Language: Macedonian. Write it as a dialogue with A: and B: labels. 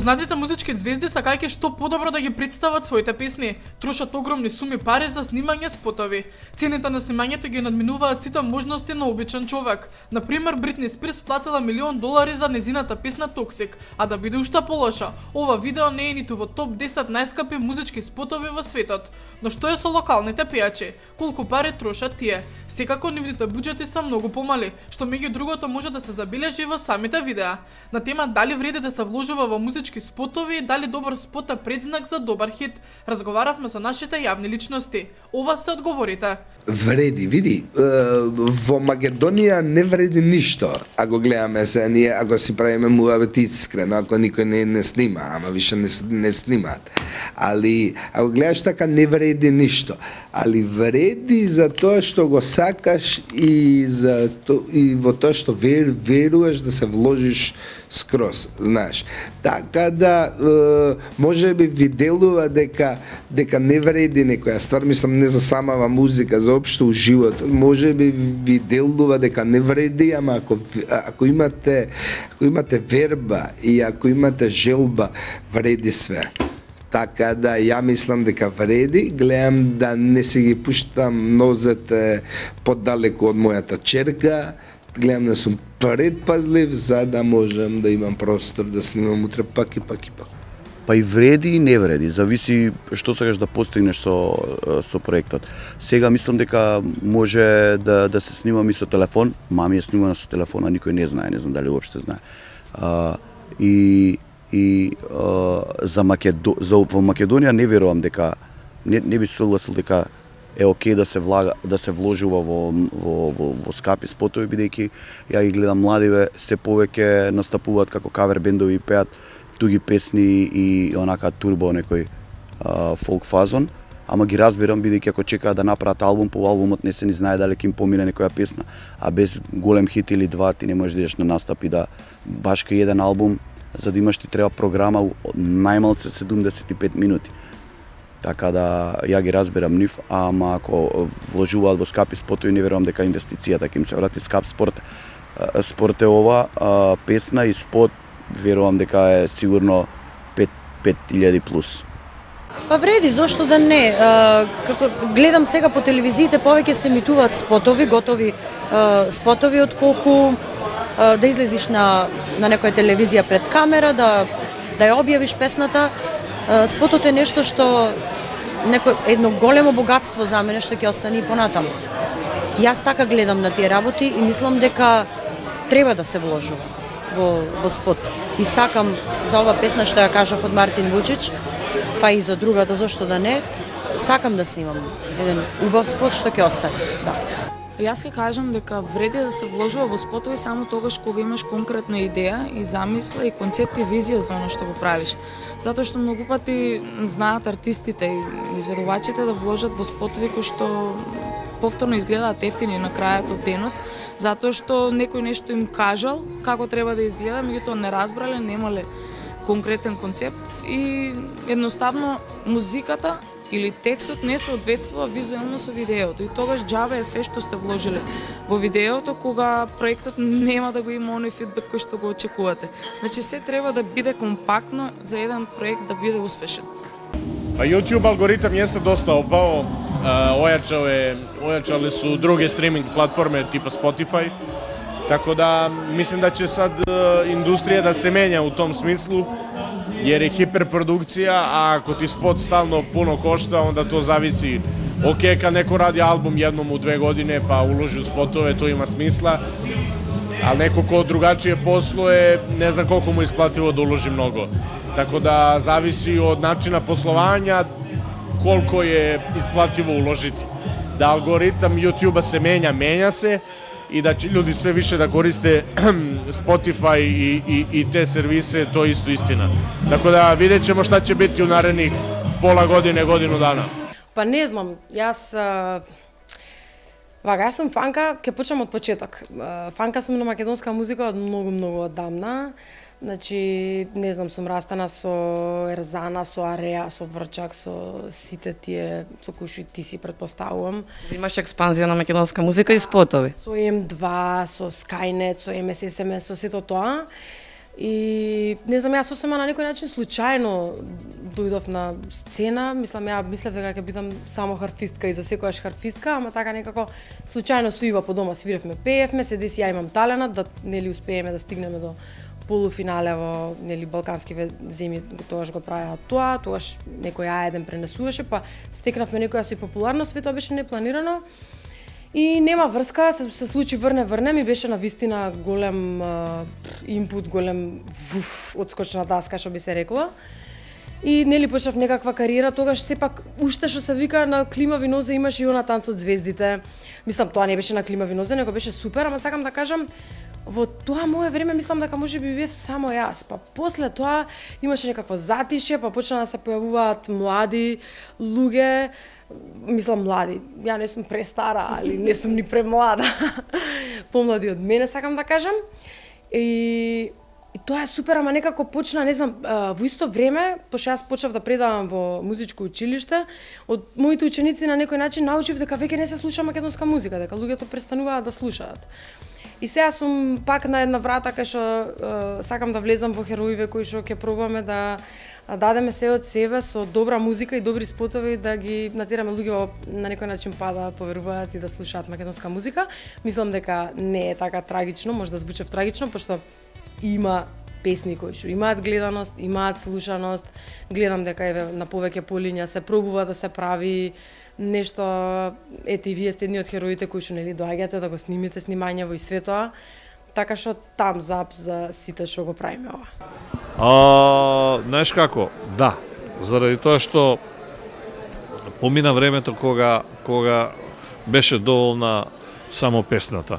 A: Познатите музички звезди сакајќи што подобро да ги представат своите песни, трошат огромни суми пари за снимање спотови. Цените на снимањето ги надминуваат сите можности на обичен човек. Например, Бритни Спирс платила $1 милион за незината песна Toxic, а да биде уште полоша, ова видео не е ниту во топ 10 најскапи музички спотови во светот. Но што е со локалните пејачи? Колку пари трошат тие? Секако нивните буџети се многу помали, што меѓу другото може да се забележи во самите видеа. На тема дали вреди да се вложува во музички спотови и дали добар спот е предзнак за добар хит, разговаравме со нашите јавни личности. Ова се одговорите.
B: Вреди, види, во Македонија не вреди ништо. Ако гледаме се, ние ако си правиме муабет искрено, ако никој не снима, ама више не снимаат. Али ако гледаш така не вреди ништо. Али вреди за тоа што го сакаш и во тоа што веруваш да се вложиш скроз, знаеш. Така да може би ви делува дека не вреди некоја ствар, мислам не за самава музика, за општо у животот. Може би ви делува дека не вреди, ама ако имате верба и ако имате желба, вреди све. Така да ја мислам дека вреди, гледам да не се ги пуштам нозете подалеку од мојата черка, гледам да сум предпазлив за да можам да имам простор да снимам утре пак и пак и пак.
C: Па и вреди и не вреди, зависи што сакаш да постигнеш со проектот. Сега мислам дека може да се снимам и со телефон, мами е снимана со телефона, никој не знае, не знам дали уопште знае. Во Македонија не верувам дека не би се согласил дека е окей да се вложува во скапи спотови, бидејќи ја ги гледам младиве се повеќе настапуваат како кавер бендови и пеат туги песни и онака турбо некој фолк фазон, ама ги разбирам бидејќи ако чекаат да направат албум, по албумот не се ни знае дали ќе им помине некоја песна, а без голем хит или два ти не можеш да идеш на настап и да баш кај еден албум, за да имаш ти треба програма најмалце 75 минути. Така да ја ги разбирам нив, ама ако вложуваат во скапи спотови, не верувам дека инвестицијата ќе им се врати. Скап спорт е ова, песна и спот верувам дека е сигурно 5000 плюс.
D: Па вреди, зошто да не? Како гледам сега по телевизиите повеќе се емитуваат спотови, готови спотови, отколку да излезиш на некоја телевизија пред камера, да ја објавиш песната. Спотот е нешто што едно големо богатство за мене што ќе остане и понатаму. Јас така гледам на тие работи и мислам дека треба да се вложува во спот. И сакам за ова песна што ја кажав од Мартин Вучич, па и за другата, зошто да не, сакам да снимам еден убав спот што ќе остане. Да.
E: Јас ќе кажам дека вреди да се вложува во спотови само тогаш кога имаш конкретна идеја и замисла и концепт и визија за оно што го правиш. Затоа што многу пати знаат артистите и изведувачите да вложат во спотови кои што повторно изгледаат ефтини на крајот од денот, затоа што некој нешто им кажал како треба да изгледа, меѓутоа не разбрале, немале конкретен концепт и едноставно музиката или текстот не соодветствува визуелно со видеото и тогаш џабе е се што сте вложиле во видеото кога проектот нема да го има оној фидбек кој што го очекувате. Значи се треба да биде компактно за еден проект да биде успешен.
F: Па YouTube алгоритам јесте доста опао, ојачале су други стриминг платформи типа Spotify, така да мислим да ќе сад индустрија да се менја у том смислу, jer je hiperprodukcija, a ako ti spot stalno puno košta, onda to zavisi. Ok, kad neko radi album jednom u 2 godine pa uloži u spotove, to ima smisla, ali neko ko drugačije posluje, ne znam koliko mu je isplativo da uloži mnogo. Tako da zavisi od načina poslovanja koliko je isplativo uložiti. Da algoritam YouTube-a se menja se, i da će ljudi sve više da koriste Spotify i te servise, to je isto istina. Tako da vidjet ćemo šta će biti u narednih pola godine, godinu dana.
G: Pa ne znam, јас сум фанка, ќе почнам од почеток. Фанка сум на македонска музика од многу одамна. Значи, не знам, сум растана со Ерзана, со Ареа, со Врчак, со сите тие со кои што ти си предпоставувам.
H: Имаш експанзија на македонска музика и спотови.
G: Со М2, со Skynet, со МССМ, со сето тоа. И не знам, јас сосема на некој начин случајно дојдов на сцена, мислев дека ќе бидам само харфистка и за секојаш харфистка, ама така некако случајно со Ива по дома свиревме, пеевме, се деси ја имам таленат да нели успееме да стигнеме до полуфинале во нели балканскиве земји, тогаш го правеа тоа, тогаш некој еден пренесуваше, па стекнавме некоја со популарност, све тоа беше непланирано. И нема врска, се случи врне, ми беше на вистина голем импут, голем одскочна даска, што би се рекло. И нели почнав некаква кариера, тогаш сепак уште што се вика на климави нозе имаше и она танцот звездите. Мислам, тоа не беше на климави нозе, него беше супер, ама сакам да кажам, во тоа мое време мислам дека можеби бев само јас. Па после тоа имаше некакво затишје, па почна да се појавуваат млади луѓе, мислам млади, ја не сум престара, али не сум ни премлада, помлади од мене, сакам да кажам. И тоа е супер, ама некако почна, не знам, во исто време, пошто јас почнав да предавам во музичко училиште, од моите ученици на некој начин научив дека веќе не се слуша македонска музика, дека луѓето престануваат да слушаат. И сега сум пак на една врата кај што сакам да влезам во хероиве кои што ќе пробаме да дадеме се од себе со добра музика и добри спотови да ги натераме луѓето на некој начин па да поверуваат и да слушаат македонска музика. Мислам дека не е така трагично, може да звучи трагично, пошто има песни кои што имаат гледаност, имаат слушаност. Гледам дека еве на повеќе полиња се пробува да се прави нешто, ете и вие сте едни од хероите кои што нели доаѓате да го снимите снимањево и све тоа. Така што там зап за сите што го правиме ова.
I: Знаеш како? Да, заради тоа што помина времето кога беше доволна само песната.